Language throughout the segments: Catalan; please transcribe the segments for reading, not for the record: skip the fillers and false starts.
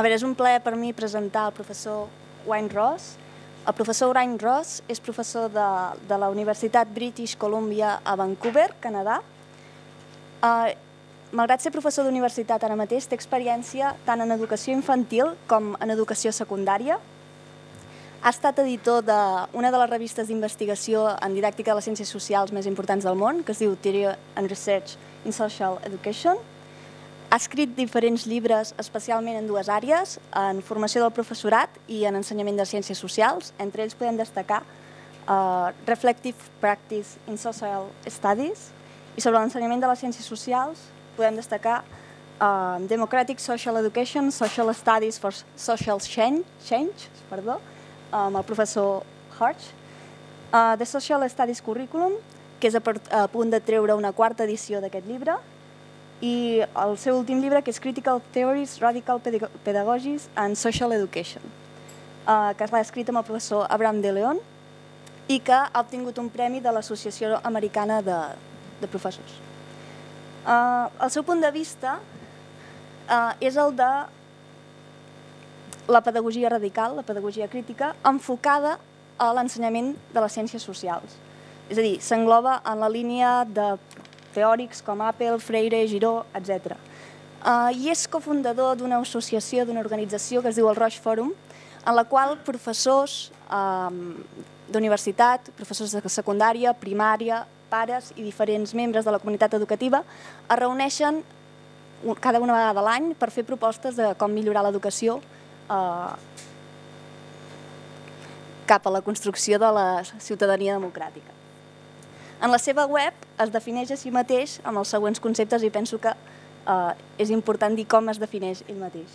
veure, és un plaer per mi presentar el professor Wayne Ross. El professor Wayne Ross és professor de la Universitat British Columbia a Vancouver, Canadà. Malgrat ser professor d'universitat ara mateix, té experiència tant en educació infantil com en educació secundària. Ha estat editor d'una de les revistes d'investigació en didàctica de les ciències socials més importants del món, que es diu Theory and Research in Social Education. Ha escrit diferents llibres, especialment en dues àrees, en formació del professorat i en ensenyament de ciències socials. Entre ells podem destacar Reflective Practice in Social Studies, i sobre l'ensenyament de les ciències socials podem destacar Democratic Social Education, Social Studies for Social Change, amb el professor Hirsch, The Social Studies Curriculum, que és a punt de treure una quarta edició d'aquest llibre, i el seu últim llibre, que és Critical Theories, Radical Pedagogies and Social Education, que l'ha escrit amb el professor Abraham de Leon i que ha obtingut un premi de l'Associació Americana de Professors. El seu punt de vista és el de la pedagogia radical, la pedagogia crítica, enfocada a l'ensenyament de les ciències socials. És a dir, s'engloba en la línia de teòrics com Apple, Freire, Giró, etc. I és cofundador d'una associació, d'una organització que es diu el Roig Forum, en la qual professors d'universitat, professors de secundària, primària, pares i diferents membres de la comunitat educativa es reuneixen cada una vegada a l'any per fer propostes de com millorar l'educació cap a la construcció de la ciutadania democràtica. En la seva web es defineix a si mateix amb els següents conceptes i penso que és important dir com es defineix ell mateix.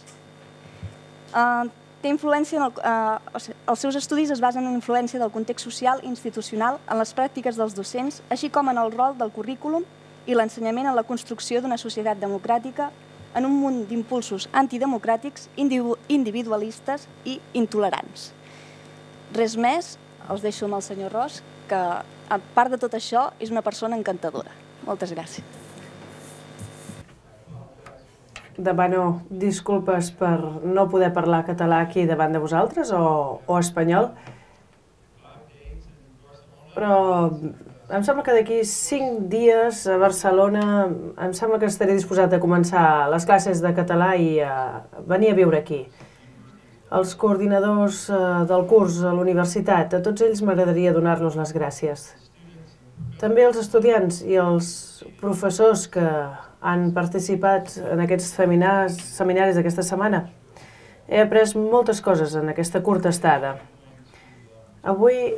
Els seus estudis es basen en la influència del context social i institucional en les pràctiques dels docents, així com en el rol del currículum i l'ensenyament en la construcció d'una societat democràtica en un munt d'impulsos antidemocràtics, individualistes i intolerants. Res més, els deixo amb el senyor Ross, que a part de tot això és una persona encantadora. Moltes gràcies. Demano disculpes per no poder parlar català aquí davant de vosaltres o espanyol, però em sembla que d'aquí 5 dies a Barcelona em sembla que estaré disposat a començar les classes de català i a venir a viure aquí. Els coordinadors del curs a l'universitat, a tots ells m'agradaria donar-los les gràcies. També els estudiants i els professors que han participat en aquests seminaris d'aquesta setmana. He après moltes coses en aquesta curta estada. Avui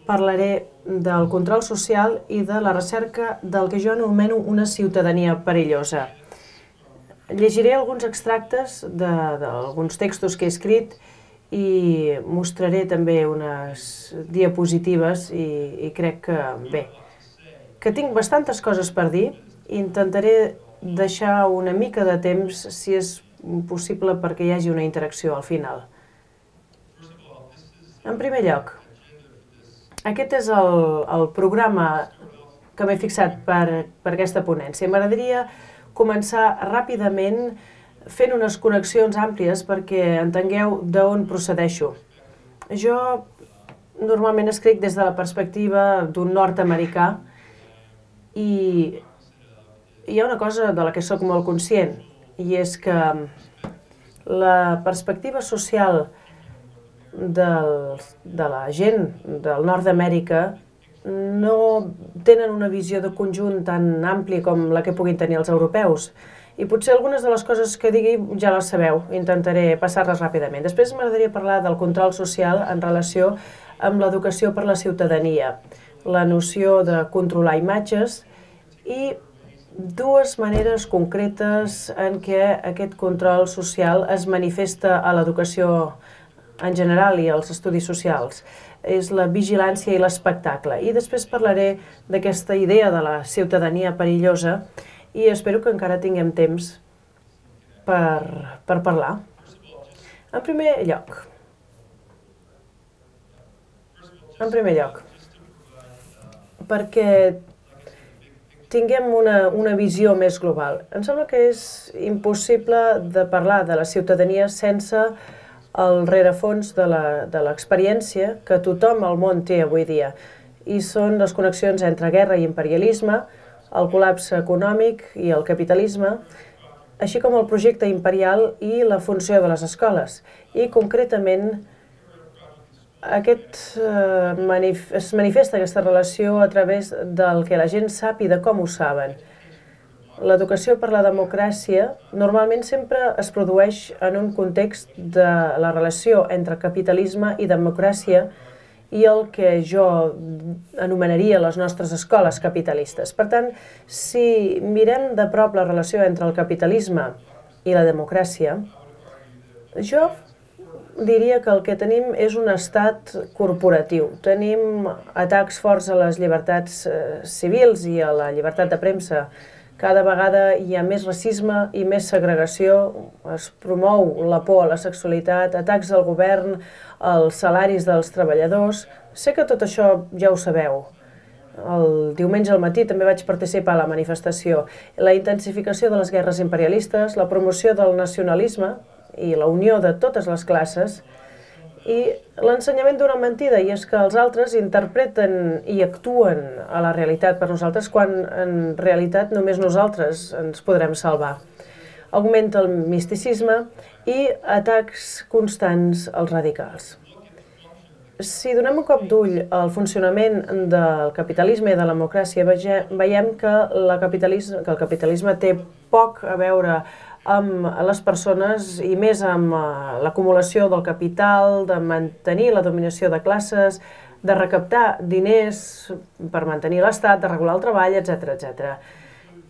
parlaré del control social i de la recerca del que jo anomeno una ciutadania perillosa. Llegiré alguns extractes d'alguns textos que he escrit i mostraré també unes diapositives i crec que, bé, que tinc bastantes coses per dir. Intentaré deixar una mica de temps, si és possible, perquè hi hagi una interacció al final. En primer lloc, aquest és el programa que m'he fixat per aquesta ponència. M'agradaria començar ràpidament fent unes connexions àmplies perquè entengueu d'on procedeixo. Jo normalment escric des de la perspectiva d'un nord-americà i hi ha una cosa de la que sóc molt conscient, i és que la perspectiva social de la gent del nord d'Amèrica no tenen una visió de conjunt tan àmplia com la que puguin tenir els europeus. I potser algunes de les coses que digui ja les sabeu, intentaré passar-les ràpidament. Després m'agradaria parlar del control social en relació amb l'educació per la ciutadania, la noció de controlar imatges i dues maneres concretes en què aquest control social es manifesta a l'educació en general i als estudis socials. És la vigilància i l'espectacle. I després parlaré d'aquesta idea de la ciutadania perillosa i espero que encara tinguem temps per parlar. En primer lloc, perquè tinguem una visió més global. Em sembla que és impossible de parlar de la ciutadania sense el rerefons de l'experiència que tothom al món té avui dia. I són les connexions entre guerra i imperialisme, el col·lapse econòmic i el capitalisme, així com el projecte imperial i la funció de les escoles. I concretament es manifesta aquesta relació a través del que la gent sap i de com ho saben. L'educació per la democràcia normalment sempre es produeix en un context de la relació entre capitalisme i democràcia i el que jo anomenaria les nostres escoles capitalistes. Per tant, si mirem de prop la relació entre el capitalisme i la democràcia, jo diria que el que tenim és un estat corporatiu. Tenim atacs forts a les llibertats civils i a la llibertat de premsa. Cada vegada hi ha més racisme i més segregació, es promou la por a la sexualitat, atacs al govern, als salaris dels treballadors. Sé que tot això ja ho sabeu. El diumenge al matí també vaig participar a la manifestació. La intensificació de les guerres imperialistes, la promoció del nacionalisme i la unió de totes les classes i l'ensenyament d'una mentida, i és que els altres interpreten i actuen a la realitat per nosaltres quan en realitat només nosaltres ens podrem salvar. Augmenta el misticisme i atacs constants als radicals. Si donem un cop d'ull al funcionament del capitalisme i de la democràcia, veiem que el capitalisme té poc a veure amb les persones i més amb l'acumulació del capital, de mantenir la dominació de classes, de recaptar diners per mantenir l'estat, de regular el treball, etc.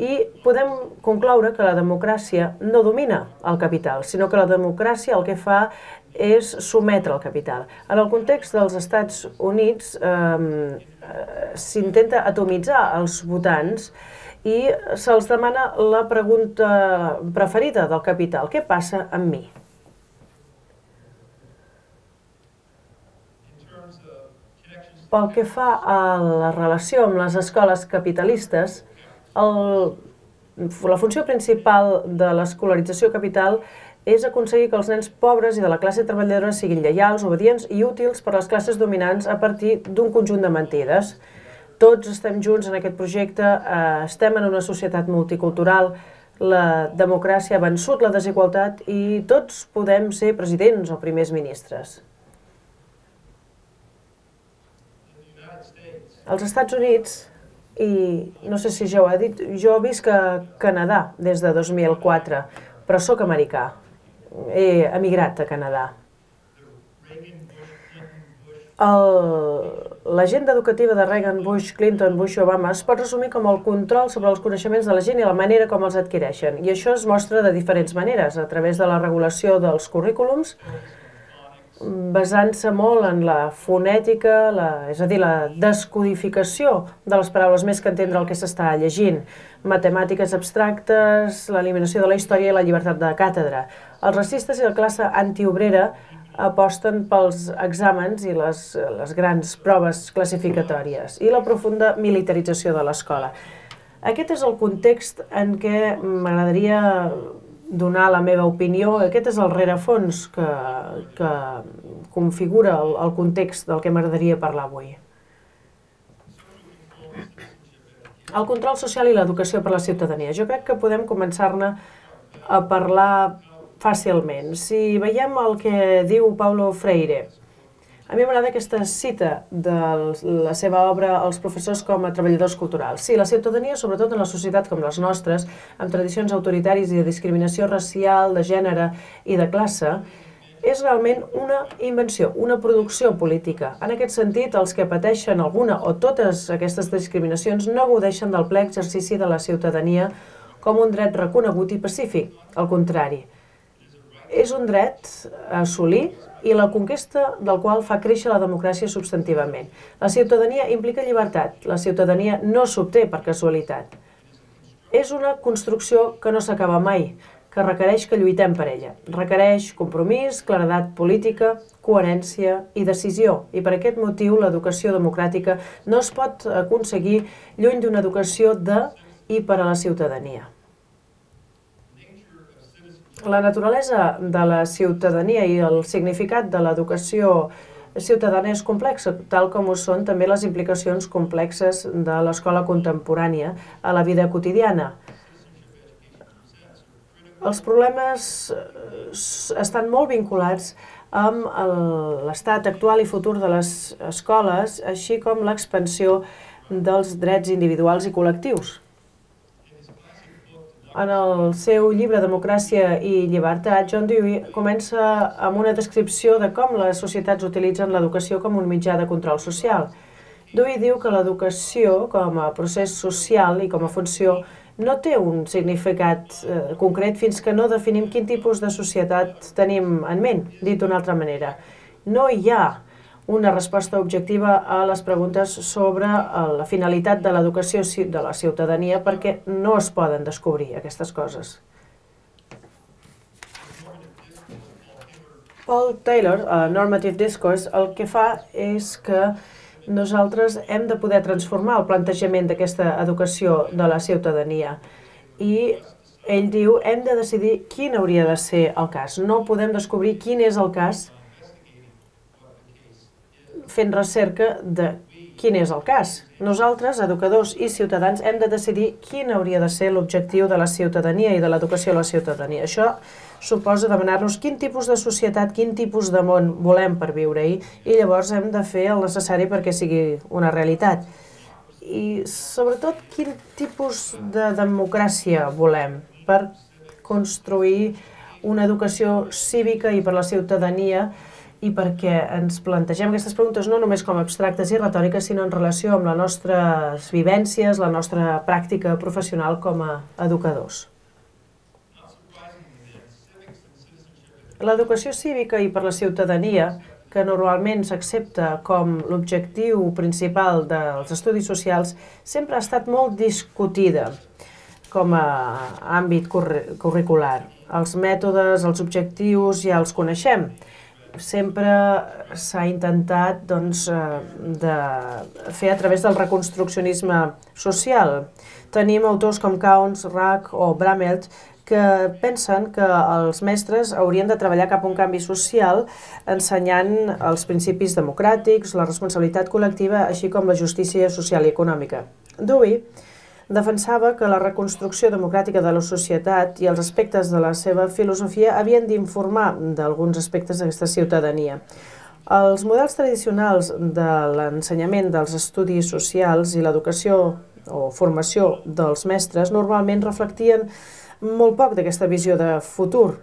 I podem concloure que la democràcia no domina el capital, sinó que la democràcia el que fa és sometre el capital. En el context dels Estats Units s'intenta atomitzar els votants i se'ls demana la pregunta preferida del capital: què passa amb mi? Pel que fa a la relació amb les escoles capitalistes, la funció principal de l'escolarització capital és aconseguir que els nens pobres i de la classe treballadora siguin lleials, obedients i útils per a les classes dominants a partir d'un conjunt de mentides. Tots estem junts en aquest projecte, estem en una societat multicultural, la democràcia ha vençut la desigualtat i tots podem ser presidents o primers ministres. Als Estats Units, i no sé si ja ho he dit, jo visc a Canadà des de 2004, però sóc americà. He emigrat a Canadà. L'agenda educativa de Reagan, Bush, Clinton, Bush i Obama es pot resumir com el control sobre els coneixements de la gent i la manera com els adquireixen. I això es mostra de diferents maneres, a través de la regulació dels currículums, basant-se molt en la fonètica, és a dir, la descodificació de les paraules més que entendre el que s'està llegint, matemàtiques abstractes, l'eliminació de la història i la llibertat de càtedra. Els racistes i la classe antiobrera aposten pels exàmens i les grans proves classificatòries i la profunda militarització de l'escola. Aquest és el context en què m'agradaria donar la meva opinió. Aquest és el rerefons que configura el context del que m'agradaria parlar avui. El control social i l'educació per a la ciutadania. Jo crec que podem començar-ne a parlar fàcilment. Si veiem el que diu Paulo Freire, a mi m'agrada aquesta cita de la seva obra Els professors com a treballadors culturals. Sí, la ciutadania, sobretot en la societat com les nostres, amb tradicions autoritaris i de discriminació racial, de gènere i de classe, és realment una invenció, una producció política. En aquest sentit, els que pateixen alguna o totes aquestes discriminacions no gaudeixen del ple exercici de la ciutadania com un dret reconegut i pacífic. Al contrari, és un dret a assolir i la conquesta del qual fa créixer la democràcia substantivament. La ciutadania implica llibertat, la ciutadania no s'obté per casualitat. És una construcció que no s'acaba mai, que requereix que lluitem per ella. Requereix compromís, claredat política, coherència i decisió. I per aquest motiu l'educació democràtica no es pot aconseguir lluny d'una educació de i per a la ciutadania. La naturalesa de la ciutadania i el significat de l'educació ciutadana és complexa, tal com ho són també les implicacions complexes de l'escola contemporània a la vida quotidiana. Els problemes estan molt vinculats amb l'estat actual i futur de les escoles, així com l'expansió dels drets individuals i col·lectius. En el seu llibre Democràcia i llibertat, John Dewey comença amb una descripció de com les societats utilitzen l'educació com un mitjà de control social. Dewey diu que l'educació, com a procés social i com a funció, no té un significat concret fins que no definim quin tipus de societat tenim en ment. Dit d'una altra manera, no hi ha una resposta objectiva a les preguntes sobre la finalitat de l'educació de la ciutadania perquè no es poden descobrir aquestes coses. Paul Taylor, a Normative Discourse, el que fa és que nosaltres hem de poder transformar el plantejament d'aquesta educació de la ciutadania i ell diu hem de decidir quin hauria de ser el cas. No podem descobrir quin és el cas fent recerca de quin és el cas. Nosaltres, educadors i ciutadans, hem de decidir quin hauria de ser l'objectiu de la ciutadania i de l'educació a la ciutadania. Això suposa demanar-nos quin tipus de societat, quin tipus de món volem per viure-hi i llavors hem de fer el necessari perquè sigui una realitat. I sobretot quin tipus de democràcia volem per construir una educació cívica i per la ciutadania i perquè ens plantegem aquestes preguntes no només com abstractes i retòriques, sinó en relació amb les nostres vivències, la nostra pràctica professional com a educadors. L'educació cívica i per la ciutadania, que normalment s'accepta com l'objectiu principal dels estudis socials, sempre ha estat molt discutida com a àmbit curricular. Els mètodes, els objectius ja els coneixem. Sempre s'ha intentat de fer a través del reconstruccionisme social. Tenim autors com Counts, Rack o Bramelt que pensen que els mestres haurien de treballar cap a un canvi social ensenyant els principis democràtics, la responsabilitat col·lectiva, així com la justícia social i econòmica. Dewey defensava que la reconstrucció democràtica de la societat i els aspectes de la seva filosofia havien d'informar d'alguns aspectes d'aquesta ciutadania. Els models tradicionals de l'ensenyament dels estudis socials i l'educació o formació dels mestres normalment reflectien molt poc d'aquesta visió de futur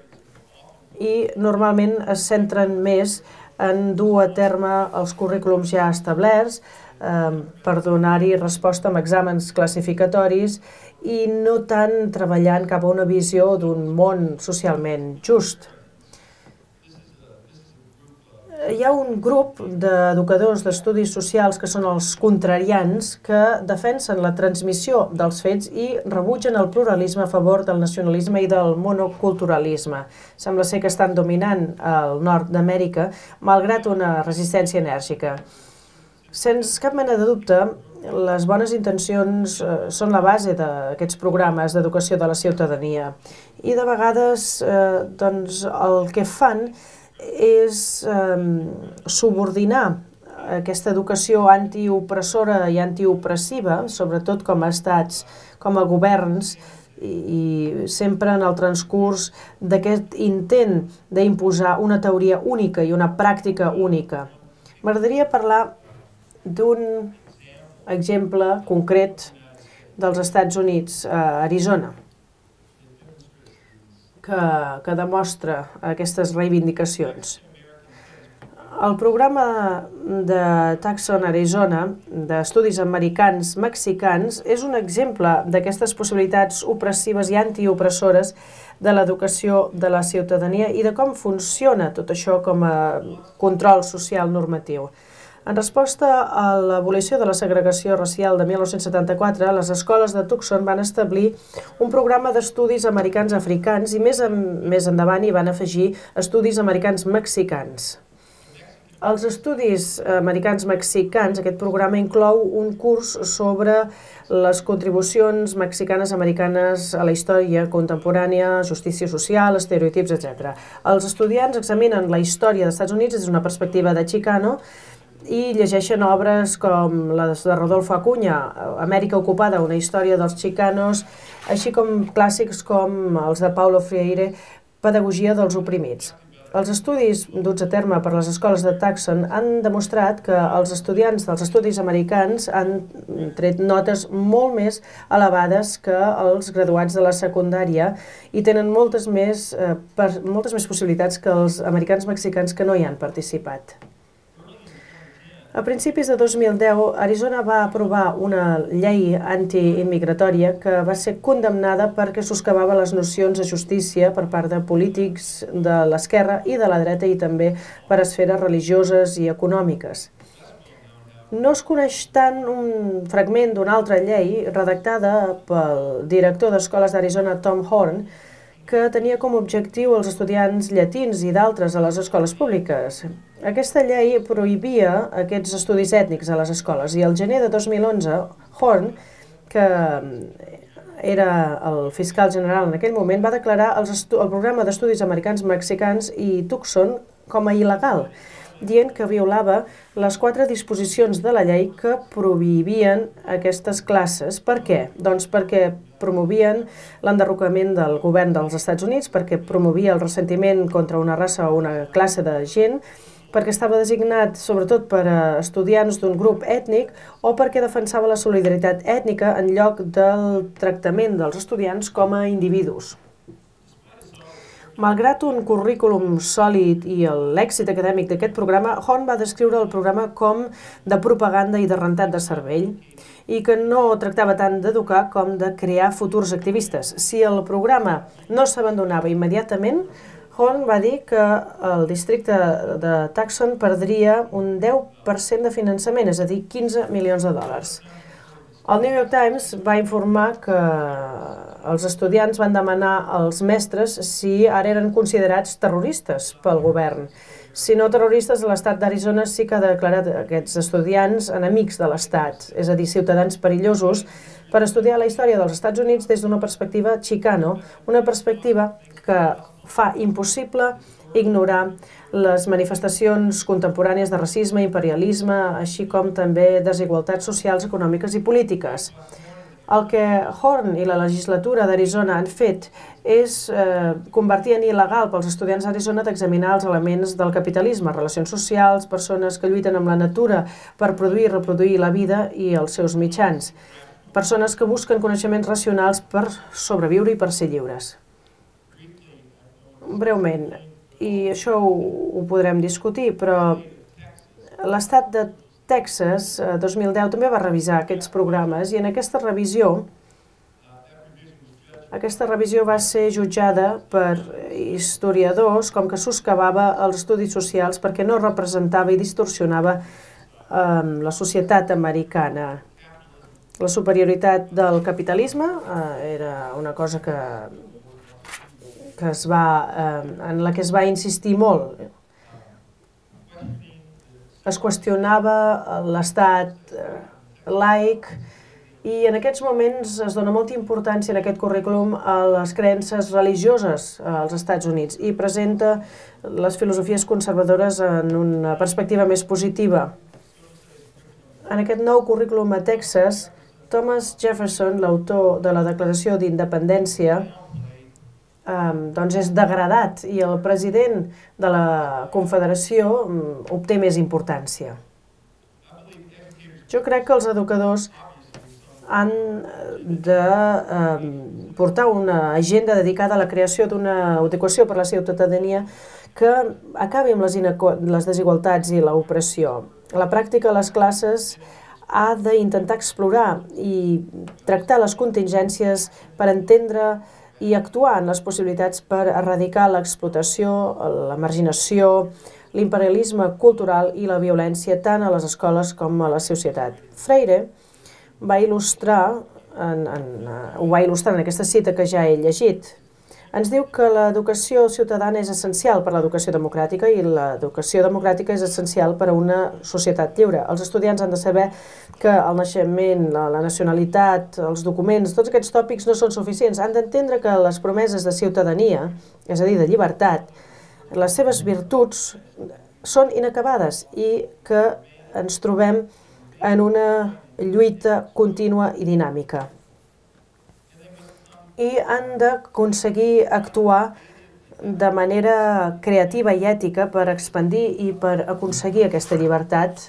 i normalment es centren més en dur a terme els currículums ja establerts per donar-hi resposta amb exàmens classificatoris i no tant treballant cap a una visió d'un món socialment just. Hi ha un grup d'educadors d'estudis socials que són els contrarians que defensen la transmissió dels fets i rebutgen el pluralisme a favor del nacionalisme i del monoculturalisme. Sembla ser que estan dominant el nord d'Amèrica malgrat una resistència enèrgica. Sense cap mena de dubte, les bones intencions són la base d'aquests programes d'educació de la ciutadania i de vegades el que fan és subordinar aquesta educació antiopressora i antiopressiva, sobretot com a estats, com a governs, i sempre en el transcurs d'aquest intent d'imposar una teoria única i una pràctica única. M'agradaria parlar d'un exemple concret dels Estats Units, a Arizona, que demostra aquestes reivindicacions. El programa de Tucson, Arizona, d'estudis americans mexicans, és un exemple d'aquestes possibilitats opressives i antiopressores de l'educació de la ciutadania i de com funciona tot això com a control social normatiu. En resposta a l'abolició de la segregació racial de 1974, les escoles de Tucson van establir un programa d'estudis americans africans i més endavant hi van afegir estudis americans mexicans. Els estudis americans mexicans, aquest programa inclou un curs sobre les contribucions mexicanes-americanes a la història contemporània, justícia social, estereotips, etc. Els estudiants examinen la història dels Estats Units des d'una perspectiva de Chicano i llegeixen obres com les de Rodolfo Acuña, Amèrica ocupada, una història dels chicanos, així com clàssics com els de Paulo Freire, Pedagogia dels oprimits. Els estudis duts a terme per les escoles de Tucson han demostrat que els estudiants dels estudis americans han tret notes molt més elevades que els graduats de la secundària i tenen moltes més possibilitats que els americans mexicans que no hi han participat. A principis de 2010, Arizona va aprovar una llei antiimmigratòria que va ser condemnada perquè soscavava les nocions de justícia per part de polítics de l'esquerra i de la dreta i també per esferes religioses i econòmiques. No es coneix tant un fragment d'una altra llei redactada pel director d'escoles d'Arizona, Tom Horn, que tenia com a objectiu els estudiants llatins i d'altres a les escoles públiques. Aquesta llei prohibia aquests estudis ètnics a les escoles i el gener de 2011, Horn, que era el fiscal general en aquell moment, va declarar el programa d'estudis americans mexicans i Tucson com a il·legal, dient que violava les 4 disposicions de la llei que prohibien aquestes classes. Per què? Doncs perquè promovien l'enderrocament del govern dels Estats Units, perquè promovia el ressentiment contra una raça o una classe de gent, perquè estava designat sobretot per a estudiants d'un grup ètnic o perquè defensava la solidaritat ètnica en lloc del tractament dels estudiants com a individus. Malgrat un currículum sòlid i l'èxit acadèmic d'aquest programa, Horn va descriure el programa com de propaganda i de rentat de cervell i que no tractava tant d'educar com de crear futurs activistes. Si el programa no s'abandonava immediatament, Horn va dir que el districte de Tucson perdria un 10% de finançament, és a dir, 15 milions de dòlars. El New York Times va informar que els estudiants van demanar als mestres si ara eren considerats terroristes pel govern. Si no terroristes, l'estat d'Arizona sí que ha declarat aquests estudiants enemics de l'estat, és a dir, ciutadans perillosos, per estudiar la història dels Estats Units des d'una perspectiva chicano, una perspectiva que fa impossible ignorar les manifestacions contemporànies de racisme, imperialisme, així com també desigualtats socials, econòmiques i polítiques. El que Horn i la legislatura d'Arizona han fet és convertir en il·legal pels estudiants d'Arizona d'examinar els elements del capitalisme, relacions socials, persones que lluiten amb la natura per produir i reproduir la vida i els seus mitjans, persones que busquen coneixements racionals per sobreviure i per ser lliures. Breument, i això ho podrem discutir, però l'estat de Texas, 2010, també va revisar aquests programes i en aquesta revisió va ser jutjada per historiadors com que soscavava els estudis socials perquè no representava i distorsionava la societat americana. La superioritat del capitalisme era una cosa en la que es va insistir molt. Es qüestionava l'estat laic i en aquests moments es dona molta importància en aquest currículum a les creences religioses als Estats Units i presenta les filosofies conservadores en una perspectiva més positiva. En aquest nou currículum a Texas, Thomas Jefferson, l'autor de la Declaració d'Independència, doncs és degradat i el president de la Confederació obté més importància. Jo crec que els educadors han de portar una agenda dedicada a la creació d'una educació per a la ciutadania que acabi amb les desigualtats i l'opressió. A la pràctica, les classes ha d'intentar explorar i tractar les contingències per entendre i actuar en les possibilitats per erradicar l'explotació, la marginació, l'imperialisme cultural i la violència tant a les escoles com a la societat. Freire ho va il·lustrar en aquesta cita que ja he llegit. ens diu que l'educació ciutadana és essencial per a l'educació democràtica i l'educació democràtica és essencial per a una societat lliure. Els estudiants han de saber que el naixement, la nacionalitat, els documents, tots aquests tòpics no són suficients. Han d'entendre que les promeses de ciutadania, és a dir, de llibertat, les seves virtuts són inacabades i que ens trobem en una lluita contínua i dinàmica. I han d'aconseguir actuar de manera creativa i ètica per expandir i per aconseguir aquesta llibertat.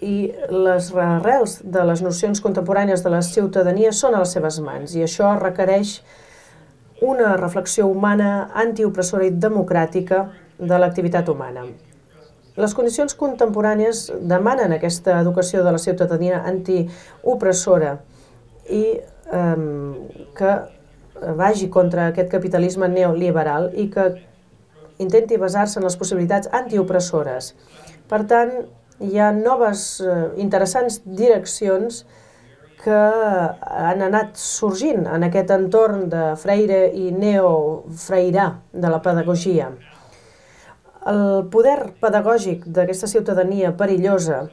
I les arrels de les nocions contemporànies de la ciutadania són a les seves mans i això requereix una reflexió humana antiopressora i democràtica de l'activitat humana. Les condicions contemporànies demanen aquesta educació de la ciutadania antiopressora i que vagi contra aquest capitalisme neoliberal i que intenti basar-se en les possibilitats antiopressores. Per tant, hi ha noves interessants direccions que han anat sorgint en aquest entorn de Freire i neofreirà de la pedagogia. El poder pedagògic d'aquesta ciutadania perillosa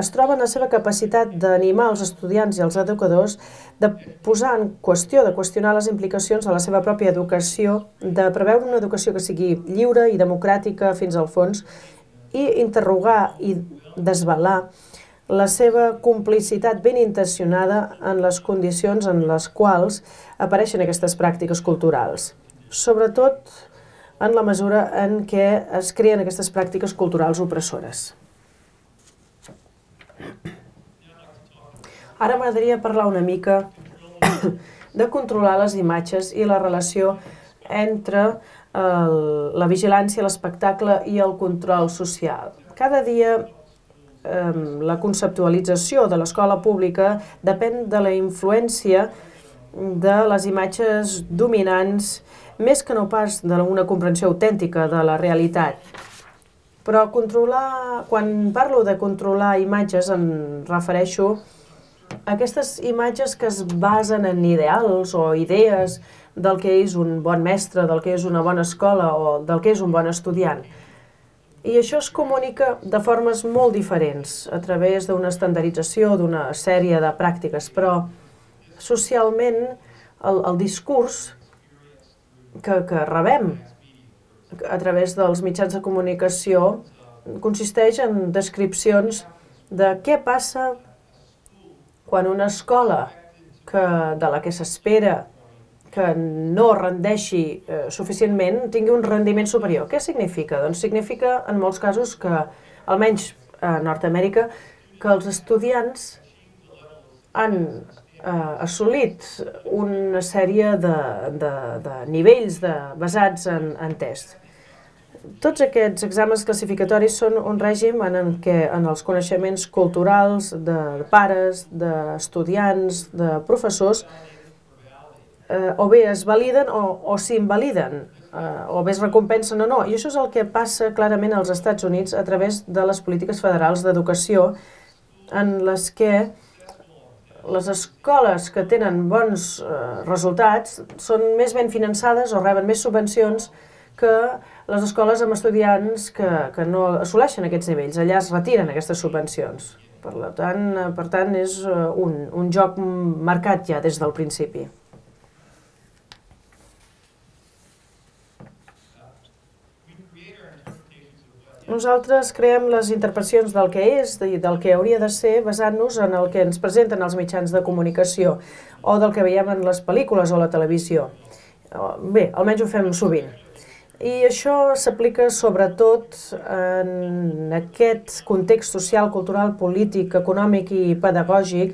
es troba en la seva capacitat d'animar els estudiants i els educadors de posar en qüestió, de qüestionar les implicacions de la seva pròpia educació, de preveure una educació que sigui lliure i democràtica fins al fons i interrogar i desvelar la seva complicitat ben intencionada en les condicions en les quals apareixen aquestes pràctiques culturals. Sobretot en la mesura en què es creen aquestes pràctiques culturals opressores. Ara m'agradaria parlar una mica de controlar les imatges i la relació entre la vigilància, l'espectacle i el control social. Cada dia la conceptualització de l'escola pública depèn de la influència de les imatges dominants més que no pas d'una comprensió autèntica de la realitat. Però quan parlo de controlar imatges em refereixo a aquestes imatges que es basen en ideals o idees del que és un bon mestre, del que és una bona escola o del que és un bon estudiant. I això es comunica de formes molt diferents, a través d'una estandardització, d'una sèrie de pràctiques, però socialment el discurs que rebem a través dels mitjans de comunicació consisteix en descripcions de què passa quan una escola de la que s'espera que no rendeixi suficientment tingui un rendiment superior. Què significa? Doncs significa, en molts casos, que, almenys a Nord-Amèrica, que els estudiants han assolit una sèrie de nivells basats en tests. Tots aquests exàmens classificatoris són un règim en què en els coneixements culturals de pares, d'estudiants, de professors, o bé es validen o s'invaliden, o bé es recompensen o no. I això és el que passa clarament als Estats Units a través de les polítiques federals d'educació en les que les escoles que tenen bons resultats són més ben finançades o reben més subvencions que les escoles amb estudiants que no assoleixen aquests nivells. Allà es retiren aquestes subvencions. Per tant, és un joc marcat ja des del principi. Nosaltres creem les interpretacions del que és i del que hauria de ser basant-nos en el que ens presenten els mitjans de comunicació o del que veiem en les pel·lícules o la televisió. Bé, almenys ho fem sovint. I això s'aplica sobretot en aquest context social, cultural, polític, econòmic i pedagògic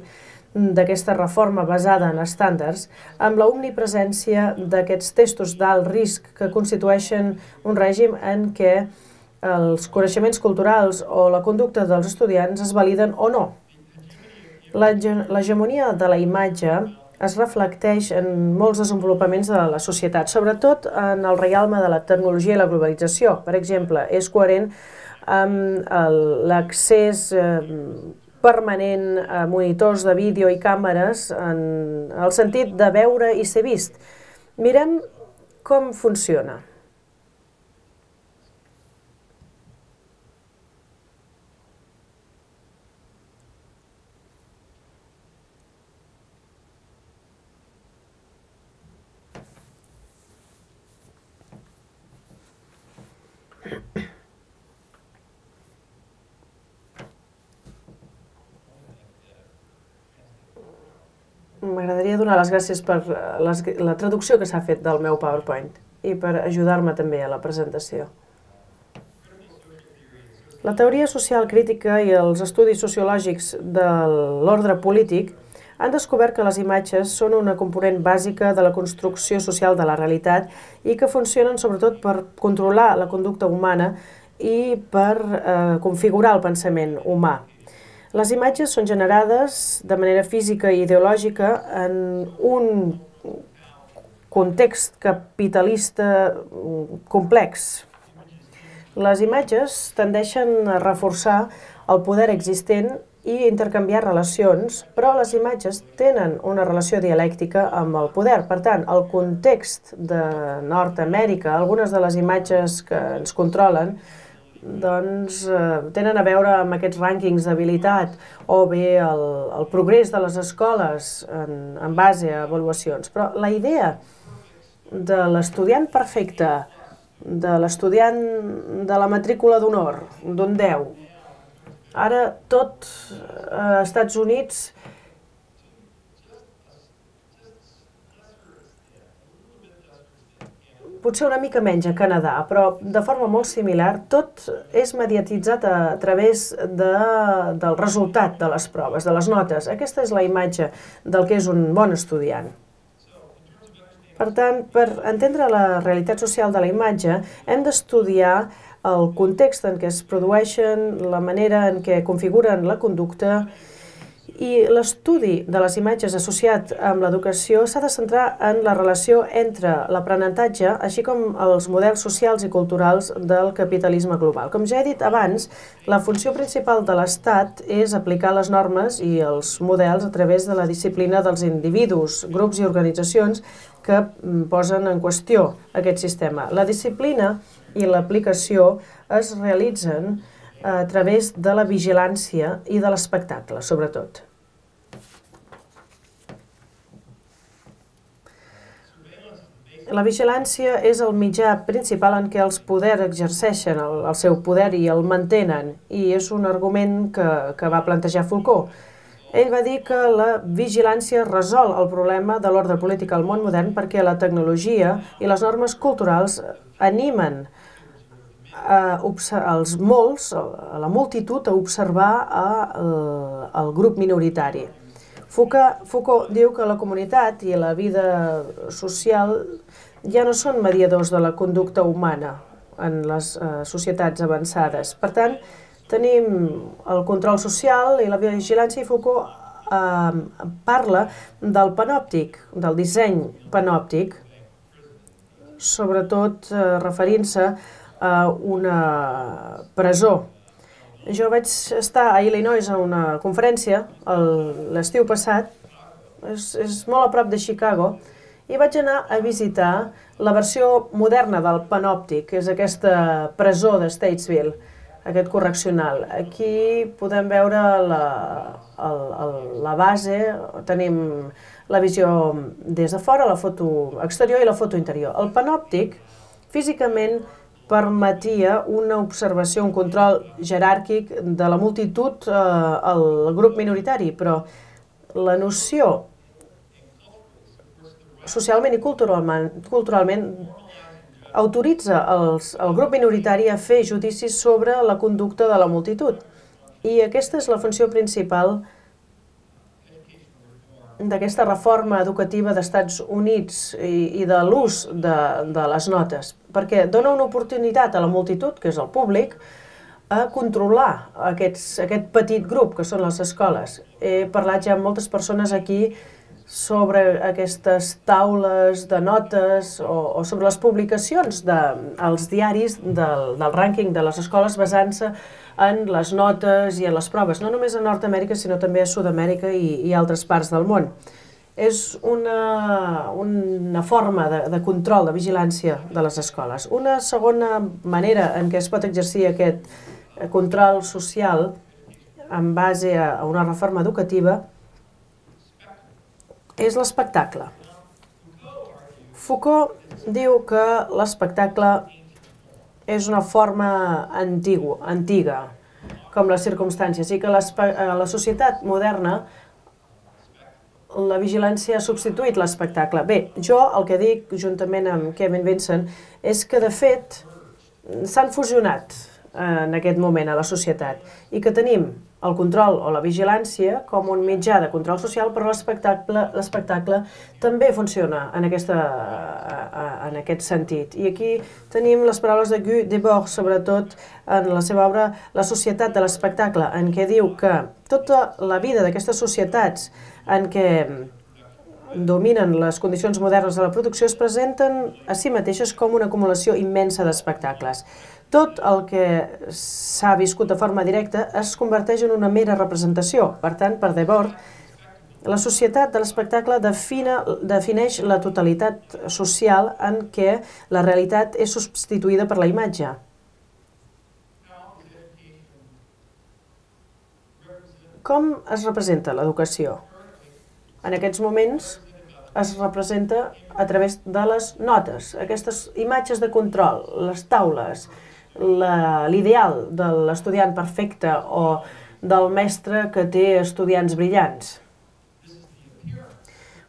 d'aquesta reforma basada en estàndards, amb la omnipresència d'aquests testos d'alt risc que constitueixen un règim en què els coneixements culturals o la conducta dels estudiants es validen o no. L'hegemonia de la imatge es reflecteix en molts desenvolupaments de la societat, sobretot en el reialme de la tecnologia i la globalització. Per exemple, és coherent amb l'accés permanent, monitors de vídeo i càmeres, en el sentit de veure i ser vist. Mirem com funciona. M'agradaria donar les gràcies per la traducció que s'ha fet del meu PowerPoint i per ajudar-me també a la presentació. La teoria social crítica i els estudis sociològics de l'ordre polític han descobert que les imatges són una component bàsica de la construcció social de la realitat i que funcionen sobretot per controlar la conducta humana i per configurar el pensament humà. Les imatges són generades de manera física i ideològica en un context capitalista complex. Les imatges tendeixen a reforçar el poder existent i intercanviar relacions, però les imatges tenen una relació dialèctica amb el poder. Per tant, el context de Nord-Amèrica, algunes de les imatges que ens controlen, doncs tenen a veure amb aquests rànquings d'habilitat o bé el progrés de les escoles en base a avaluacions. Però la idea de l'estudiant perfecte, de l'estudiant de la matrícula d'honor, d'un 10, ara tot als Estats Units potser una mica menys a Canadà, però de forma molt similar, tot és mediatitzat a través del resultat de les proves, de les notes. Aquesta és la imatge del que és un bon estudiant. Per tant, per entendre la realitat social de la imatge, hem d'estudiar el context en què es produeixen, la manera en què configuren la conducta, i l'estudi de les imatges associat amb l'educació s'ha de centrar en la relació entre l'aprenentatge, així com els models socials i culturals del capitalisme global. Com ja he dit abans, la funció principal de l'Estat és aplicar les normes i els models a través de la disciplina dels individus, grups i organitzacions que posen en qüestió aquest sistema. La disciplina i l'aplicació es realitzen a través de la vigilància i de l'espectacle, sobretot. La vigilància és el mitjà principal en què els poders exerceixen el seu poder i el mantenen, i és un argument que va plantejar Foucault. Ell va dir que la vigilància resol el problema de l'ordre polític al món modern perquè la tecnologia i les normes culturals animen els molts, a la multitud, a observar el grup minoritari. Foucault diu que la comunitat i la vida social ja no són mediadors de la conducta humana en les societats avançades. Per tant, tenim el control social i la vigilància, i Foucault parla del panòptic, del disseny panòptic, sobretot referint-se a una presó. Jo vaig estar a Illinois a una conferència l'estiu passat, és molt a prop de Chicago, i vaig anar a visitar la versió moderna del panòptic, que és aquesta presó de Statesville, aquest correccional. Aquí podem veure la base, tenim la visió des de fora, la foto exterior i la foto interior. El panòptic, físicament, permetia una observació, un control jeràrquic de la multitud al grup minoritari, però la noció socialment i culturalment autoritza el grup minoritari a fer judicis sobre la conducta de la multitud. I aquesta és la funció principal d'aquesta reforma educativa d'Estats Units i de l'ús de les notes, perquè dona una oportunitat a la multitud, que és el públic, a controlar aquest petit grup que són les escoles. He parlat ja amb moltes persones aquí sobre aquestes taules de notes o sobre les publicacions dels diaris del rànquing de les escoles basant-se en les notes i en les proves, no només a Nord-Amèrica, sinó també a Sud-amèrica i altres parts del món. És una forma de control, de vigilància de les escoles. Una segona manera en què es pot exercir aquest control social en base a una reforma educativa és l'espectacle. Foucault diu que l'espectacle és una forma antiga, com les circumstàncies, i que a la societat moderna la vigilància ha substituït l'espectacle. Bé, jo el que dic, juntament amb Kevin Vincent, és que de fet s'han fusionat en aquest moment a la societat i que tenim el control o la vigilància com un mitjà de control social, però l'espectacle també funciona en aquest sentit. I aquí tenim les paraules de Guy Debord, sobretot en la seva obra La societat de l'espectacle, en què diu que tota la vida d'aquestes societats en què dominen les condicions modernes de la producció es presenten a si mateixes com una acumulació immensa d'espectacles. Tot el que s'ha viscut de forma directa es converteix en una mera representació. Per tant, per Debord, la societat de l'espectacle defineix la totalitat social en què la realitat és substituïda per la imatge. Com es representa l'educació? En aquests moments es representa a través de les notes, aquestes imatges de control, les taules, l'ideal de l'estudiant perfecte o del mestre que té estudiants brillants.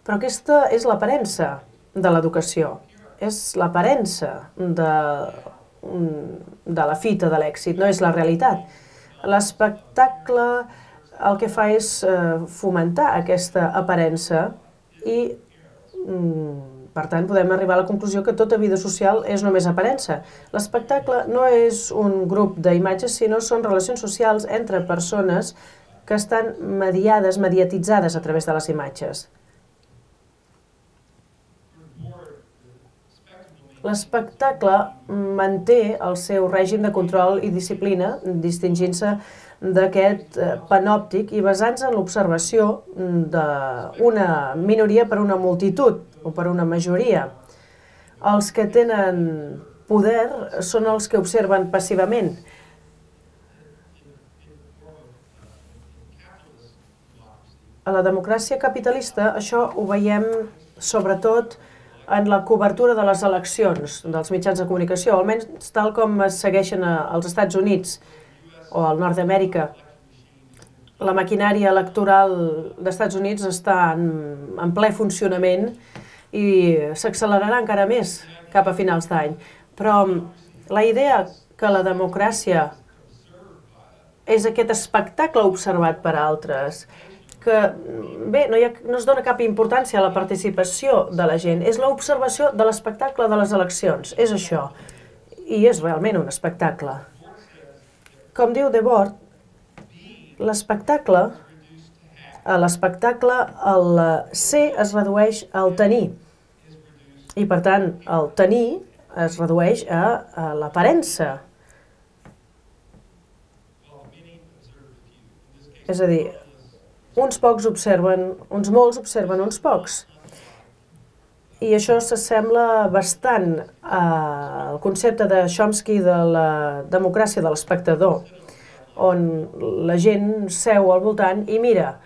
Però aquesta és l'aparença de l'educació, és l'aparença de la fita de l'èxit, no és la realitat. L'espectacle el que fa és fomentar aquesta aparença i, per tant, podem arribar a la conclusió que tota vida social és només aparença. L'espectacle no és un grup d'imatges, sinó són relacions socials entre persones que estan mediatitzades a través de les imatges. L'espectacle manté el seu règim de control i disciplina, distingint-se d'aquest panòptic i basant-se en l'observació d'una minoria per una multitud o per una majoria. Els que tenen poder són els que observen passivament. A la democràcia capitalista això ho veiem sobretot en la cobertura de les eleccions dels mitjans de comunicació, almenys tal com es segueixen als Estats Units o al nord d'Amèrica. La maquinària electoral dels Estats Units està en ple funcionament i s'accelerarà encara més cap a finals d'any. Però la idea que la democràcia és aquest espectacle observat per altres, que bé, no es dona cap importància a la participació de la gent, és l'observació de l'espectacle de les eleccions, és això, i és realment un espectacle. Com diu Debord, l'espectacle, el ser es redueix al tenir, i per tant el tenir es redueix a l'aparença. És a dir, uns pocs observen, uns molts observen uns pocs. I això s'assembla bastant al concepte de Chomsky de la democràcia de l'espectador, on la gent seu al voltant i mira.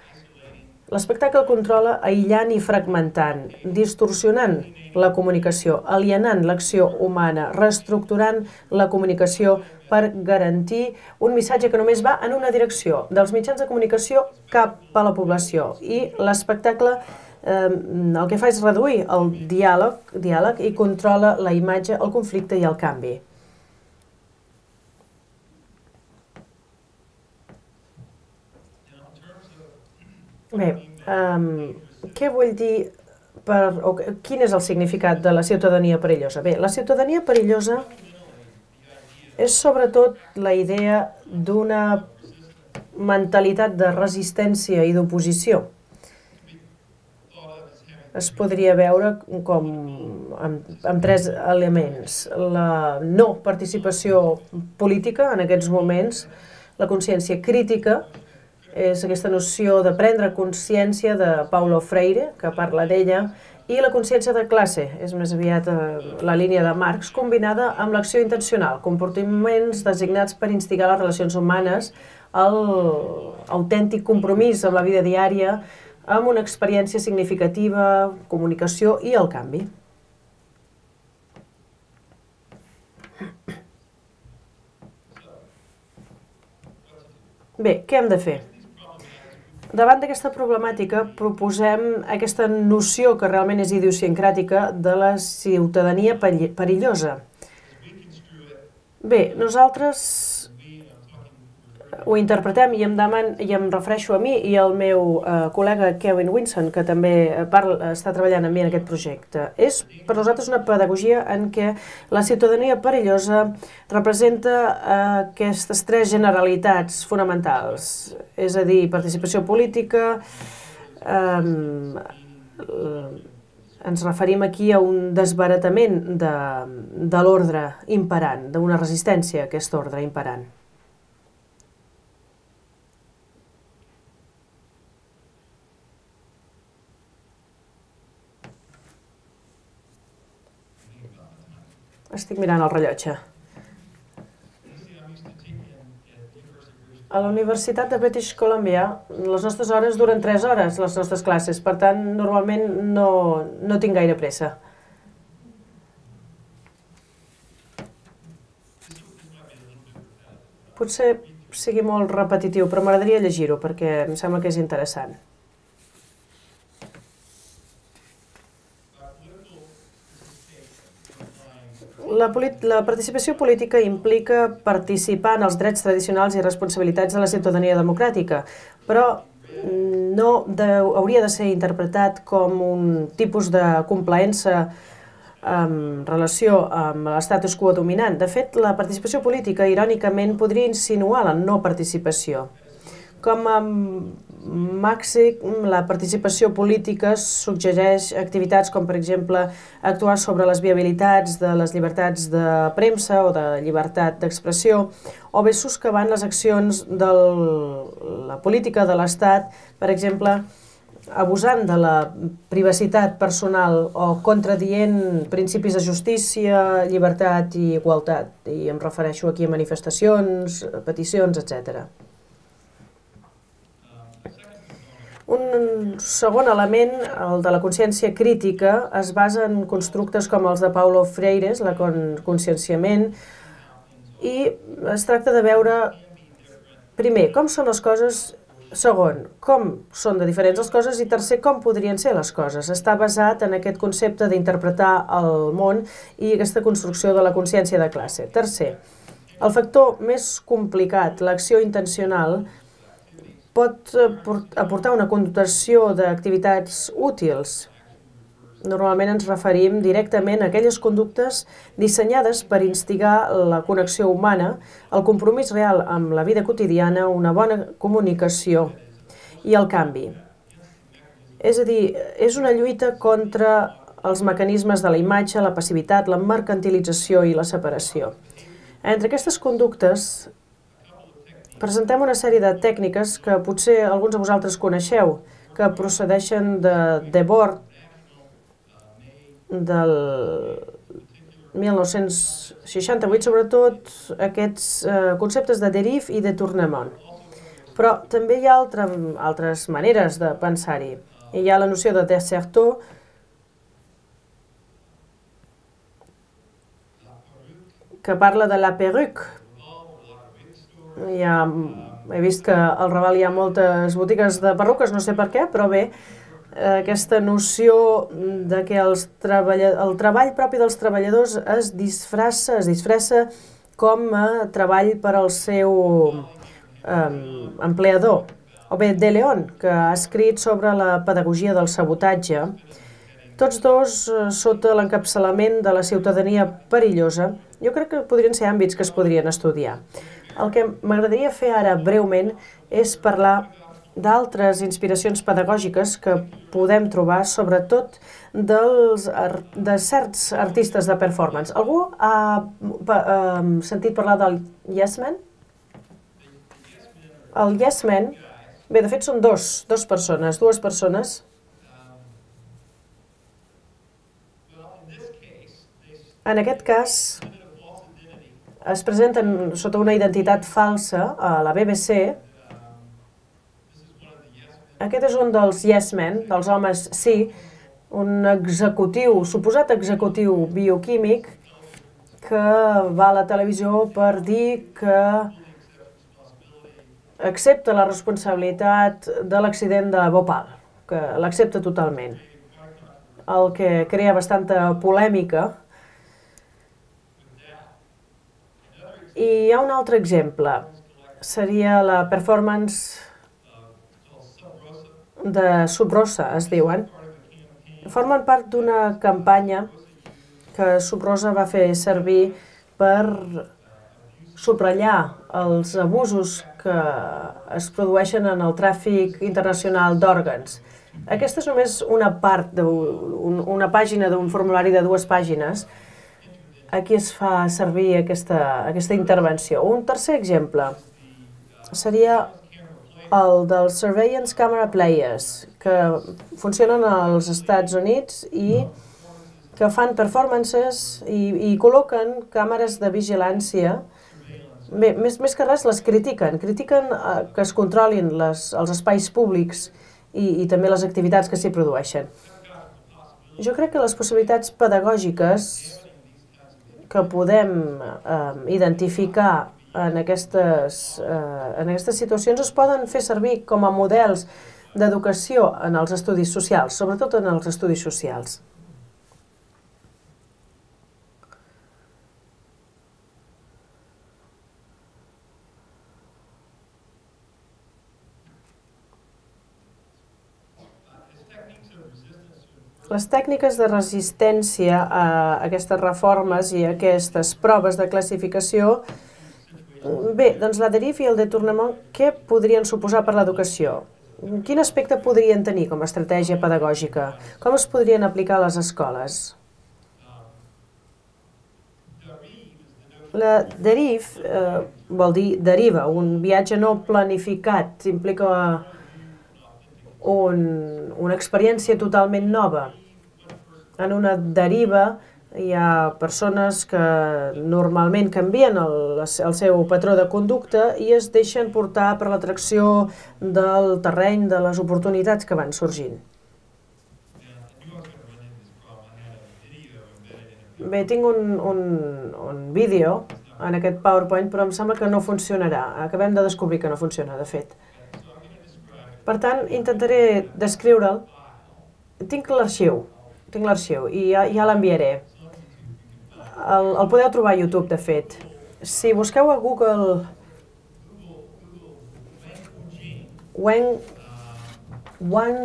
L'espectacle controla aïllant i fragmentant, distorsionant la comunicació, alienant l'acció humana, reestructurant la comunicació per garantir un missatge que només va en una direcció, dels mitjans de comunicació cap a la població. I l'espectacle el que fa és reduir el diàleg i controla la imatge, el conflicte i el canvi. Bé, què vull dir, quin és el significat de la ciutadania perillosa? Bé, la ciutadania perillosa és sobretot la idea d'una mentalitat de resistència i d'oposició. es podria veure com amb tres elements. La no participació política en aquests moments, la consciència crítica, és aquesta noció de prendre consciència de Paulo Freire, que parla d'ella, i la consciència de classe, és més aviat la línia de Marx, combinada amb l'acció intencional, comportaments designats per instigar les relacions humanes, l'autèntic compromís amb la vida diària, amb una experiència significativa, comunicació i el canvi. Bé, què hem de fer? Davant d'aquesta problemàtica proposem aquesta noció que realment és idiosincràtica de la ciutadania perillosa. Bé, nosaltres ho interpretem i em refereixo a mi i al meu col·lega Kevin Winson, que també està treballant amb mi en aquest projecte. És per nosaltres una pedagogia en què la ciutadania perillosa representa aquestes tres generalitats fonamentals, és a dir, participació política, ens referim aquí a un desbaratament de l'ordre imperant, d'una resistència a aquest ordre imperant. Estic mirant el rellotge. A la Universitat de British Columbia, les nostres hores duren 3 hores, les nostres classes. Per tant, normalment no tinc gaire pressa. Potser sigui molt repetitiu, però m'agradaria llegir-ho perquè em sembla que és interessant. La participació política implica participar en els drets tradicionals i responsabilitats de la ciutadania democràtica, però no hauria de ser interpretat com un tipus de complaença en relació amb l'estatus quo dominant. De fet, la participació política, irònicament, podria insinuar la no participació. Com a màxim, la participació política suggereix activitats com, per exemple, actuar sobre les viabilitats de les llibertats de premsa o de llibertat d'expressió, o bé soscavant les accions de la política de l'Estat, per exemple, abusant de la privacitat personal o contradient principis de justícia, llibertat i igualtat. I em refereixo aquí a manifestacions, peticions, etc. Un segon element, el de la consciència crítica, es basa en constructes com els de Paulo Freire, el conscienciament, i es tracta de veure, primer, com són les coses, segon, com són de diferents les coses, i tercer, com podrien ser les coses. Està basat en aquest concepte d'interpretar el món i aquesta construcció de la consciència de classe. Tercer, el factor més complicat, l'acció intencional, pot aportar una connotació d'activitats útils. Normalment ens referim directament a aquelles conductes dissenyades per instigar la connexió humana, el compromís real amb la vida quotidiana, una bona comunicació i el canvi. És a dir, és una lluita contra els mecanismes de la imatge, la passivitat, la mercantilització i la separació. Entre aquestes conductes presentem una sèrie de tècniques que potser alguns de vosaltres coneixeu, que procedeixen de Debord, del 1968, sobretot aquests conceptes de dérive i de tournement. Però també hi ha altres maneres de pensar-hi. Hi ha la noció de Desserteau, que parla de la perruque. He vist que al Raval hi ha moltes botigues de perruques, no sé per què, però bé, aquesta noció de que el treball propi dels treballadors es disfressa com a treball per al seu empleador. O bé, De Leon, que ha escrit sobre la pedagogia del sabotatge, tots dos sota l'encapçalament de la ciutadania perillosa. Jo crec que podrien ser àmbits que es podrien estudiar. El que m'agradaria fer ara breument és parlar d'altres inspiracions pedagògiques que podem trobar, sobretot de certs artistes de performance. Algú ha sentit parlar del Yes Man? El Yes Man, bé, de fet són dues persones. En aquest cas, es presenten sota una identitat falsa a la BBC. Aquest és un dels Yes Men, dels homes sí, un executiu, suposat executiu bioquímic que va a la televisió per dir que accepta la responsabilitat de l'accident de Bhopal, que l'accepta totalment, el que crea bastanta polèmica. I hi ha un altre exemple, seria la performance de Sub Rosa, es diuen. Formen part d'una campanya que Sub Rosa va fer servir per subratllar els abusos que es produeixen en el tràfic internacional d'òrgans. Aquesta és només una part d'una pàgina d'un formulari de 2 pàgines. Aquí es fa servir aquesta intervenció. Un tercer exemple seria el dels Surveillance Camera Players, que funcionen als Estats Units i que fan performances i col·loquen càmeres de vigilància. Bé, més que res les critiquen que es controlin els espais públics i també les activitats que s'hi produeixen. Jo crec que les possibilitats pedagògiques que podem identificar en aquestes situacions es poden fer servir com a models d'educació en els estudis socials, sobretot en els estudis socials. Les tècniques de resistència a aquestes reformes i a aquestes proves de classificació, bé, doncs la derive i el détournement, què podrien suposar per l'educació? Quin aspecte podrien tenir com a estratègia pedagògica? Com es podrien aplicar a les escoles? La derive vol dir deriva, un viatge no planificat, implica una experiència totalment nova. En una deriva hi ha persones que normalment canvien el seu patró de conducta i es deixen portar per l'atracció del terreny, de les oportunitats que van sorgint. Bé, tinc un vídeo en aquest PowerPoint, però em sembla que no funcionarà. Acabem de descobrir que no funciona, de fet. Per tant, intentaré descriure'l. Tinc l'arxiu i ja l'enviaré. El podeu trobar a YouTube, de fet. Si busqueu a Google Wang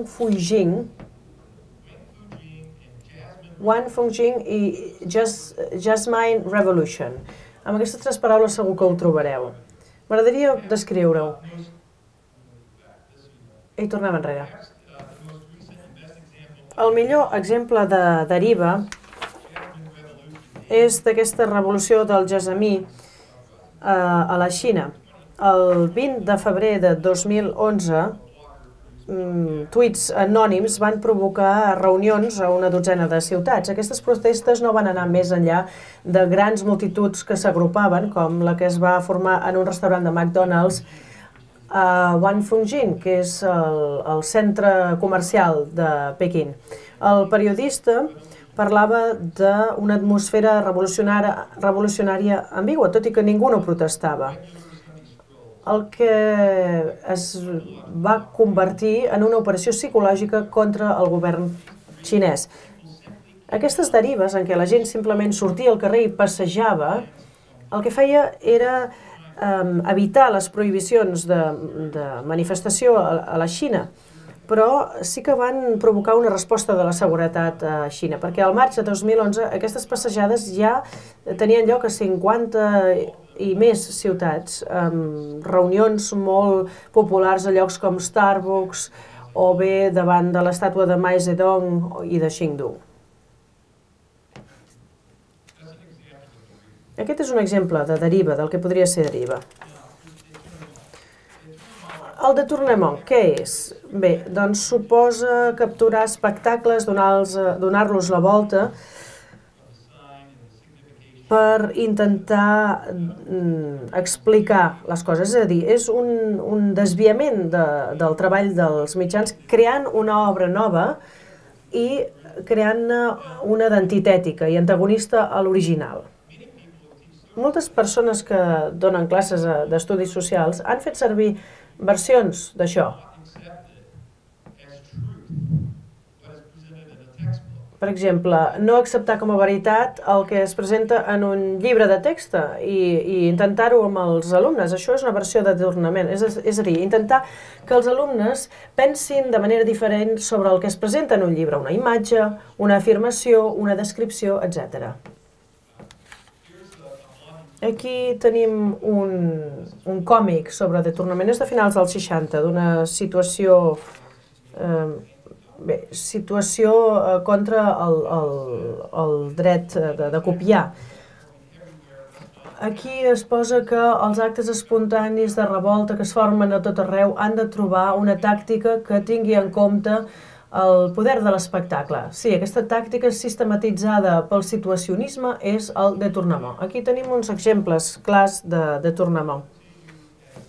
Fujing i Jasmine Revolution. Amb aquestes 3 paraules segur que ho trobareu. M'agradaria descriure-ho. I tornem enrere. El millor exemple de deriva és d'aquesta revolució del Jasmí a la Xina. El 20 de febrer de 2011, tuits anònims van provocar reunions a una dotzena de ciutats. Aquestes protestes no van anar més enllà de grans multituds que s'agrupaven, com la que es va formar en un restaurant de McDonald's a Wanfungjing, que és el centre comercial de Pequín. El periodista parlava d'una atmosfera revolucionària ambigua, tot i que ningú no protestava. El que es va convertir en una operació psicològica contra el govern xinès. Aquestes derives en què la gent simplement sortia al carrer i passejava, el que feia era evitar les prohibicions de manifestació a la Xina, però sí que van provocar una resposta de la seguretat a Xina, perquè al maig de 2011 aquestes passejades ja tenien lloc a 50 i més ciutats, amb reunions molt populars a llocs com Starbucks o bé davant de l'estàtua de Mao Zedong i de Chengdu. Aquest és un exemple de deriva, del que podria ser deriva. El détournement, què és? Bé, doncs suposa capturar espectacles, donar-los la volta per intentar explicar les coses. És a dir, és un desviament del treball dels mitjans creant una obra nova i creant-ne una d'antitètica i antagonista a l'original. Moltes persones que donen classes d'estudis socials han fet servir versions d'això. Per exemple, no acceptar com a veritat el que es presenta en un llibre de text i intentar-ho amb els alumnes. Això és una versió de détournement. És a dir, intentar que els alumnes pensin de manera diferent sobre el que es presenta en un llibre, una imatge, una afirmació, una descripció, etc. Aquí tenim un còmic sobre détournement, és de finals dels 60, d'una situació contra el dret de copiar. Aquí es posa que els actes espontanis de revolta que es formen a tot arreu han de trobar una tàctica que tingui en compte el poder de l'espectacle. Sí, aquesta tàctica sistematitzada pel situacionisme és el détournement. Aquí tenim uns exemples clars de détournement.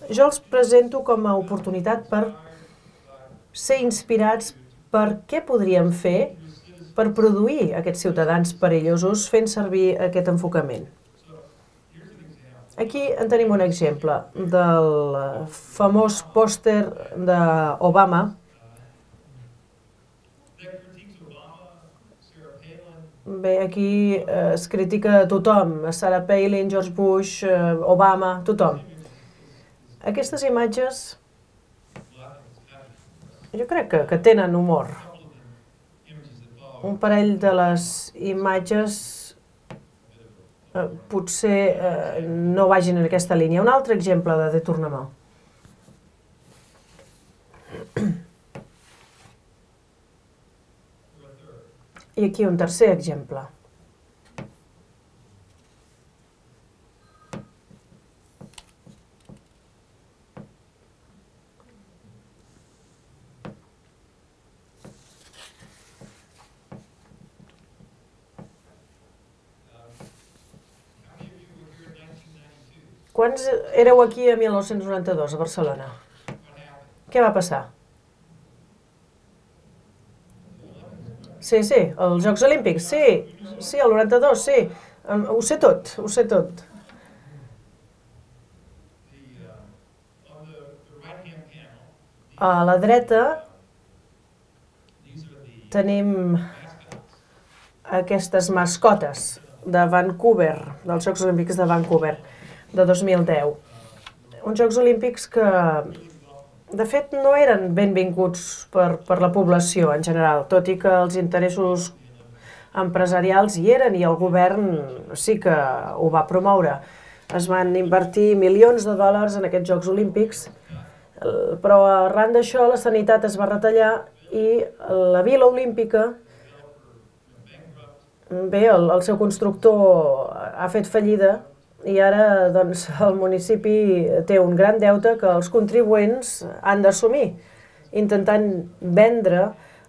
Jo els presento com a oportunitat per ser inspirats per què podríem fer per produir aquests ciutadans perillosos fent servir aquest enfocament. Aquí en tenim un exemple del famós pòster d'Obama. Bé, aquí es critica a tothom, Sarah Palin, George Bush, Obama, tothom. Aquestes imatges jo crec que tenen humor. Un parell de les imatges potser no vagin en aquesta línia. Un altre exemple de détournement. I aquí un tercer exemple. Quants éreu aquí a 1992, a Barcelona? Què va passar? Sí, els Jocs Olímpics, sí, el 92, sí. Ho sé tot. A la dreta tenim aquestes mascotes de Vancouver, dels Jocs Olímpics de Vancouver, de 2010. Uns Jocs Olímpics que, de fet, no eren benvinguts per la població en general, tot i que els interessos empresarials hi eren i el govern sí que ho va promoure. Es van invertir milions de dòlars en aquests Jocs Olímpics, però arran d'això la sanitat es va retallar i la Vila Olímpica, bé, el seu constructor ha fet fallida i ara doncs, el municipi té un gran deute que els contribuents han d'assumir, intentant vendre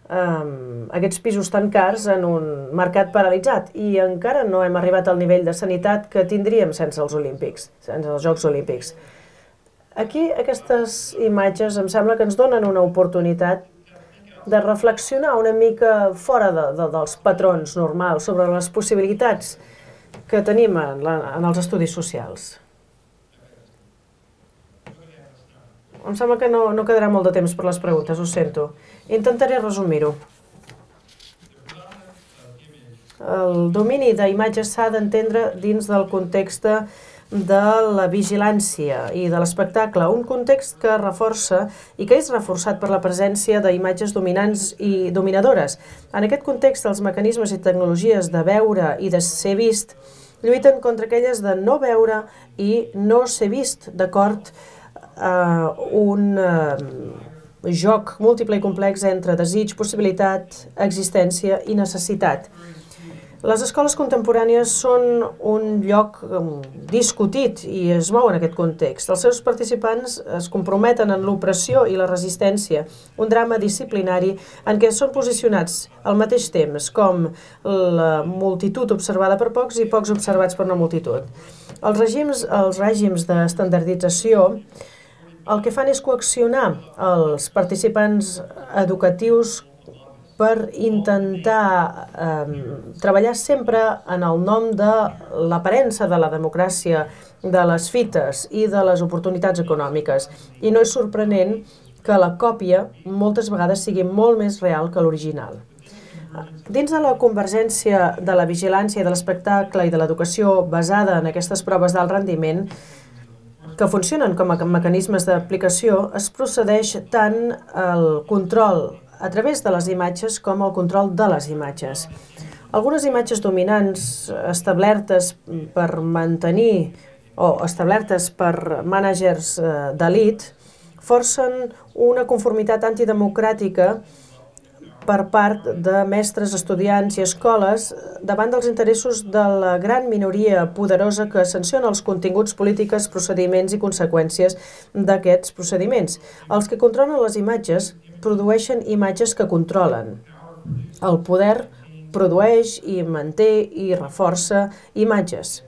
aquests pisos tan cars en un mercat paralitzat. I encara no hem arribat al nivell de sanitat que tindríem sense els Olímpics, sense els Jocs Olímpics. Aquí aquestes imatges em sembla que ens donen una oportunitat de reflexionar una mica fora dels patrons normals sobre les possibilitats que tenim en els estudis socials. Em sembla que no quedarà molt de temps per les preguntes, ho sento. Intentaré resumir-ho. El domini d'imatges s'ha d'entendre dins del context de la vigilància i de l'espectacle, un context que reforça i que és reforçat per la presència d'imatges dominants i dominadores. En aquest context, els mecanismes i tecnologies de veure i de ser vist lluiten contra aquelles de no veure i no ser vist d'acord un joc múltiple i complex entre desig, possibilitat, existència i necessitat. Les escoles contemporànies són un lloc discutit i es mou en aquest context. Els seus participants es comprometen en l'opressió i la resistència, un drama disciplinari en què són posicionats al mateix temps com la multitud observada per pocs i pocs observats per una multitud. Els règims d'estandardització el que fan és coaccionar els participants educatius per intentar treballar sempre en el nom de l'aparença de la democràcia, de les fites i de les oportunitats econòmiques. I no és sorprenent que la còpia moltes vegades sigui molt més real que l'original. Dins de la convergència de la vigilància, de l'espectacle i de l'educació basada en aquestes proves d'alt rendiment, que funcionen com a mecanismes d'aplicació, es procedeix tant al control a través de les imatges com el control de les imatges. Algunes imatges dominants establertes per mantenir o establertes per mànagers d'elit forcen una conformitat antidemocràtica per part de mestres, estudiants i escoles davant dels interessos de la gran minoria poderosa que sanciona els continguts polítics, procediments i conseqüències d'aquests procediments. Els que controlen les imatges produeixen imatges que controlen. El poder produeix i manté i reforça imatges.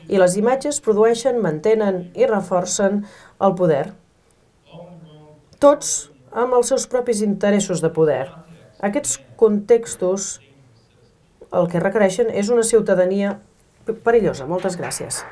I les imatges produeixen, mantenen i reforcen el poder. Tots amb els seus propis interessos de poder. Aquests contextos el que requereixen és una ciutadania perillosa. Moltes gràcies.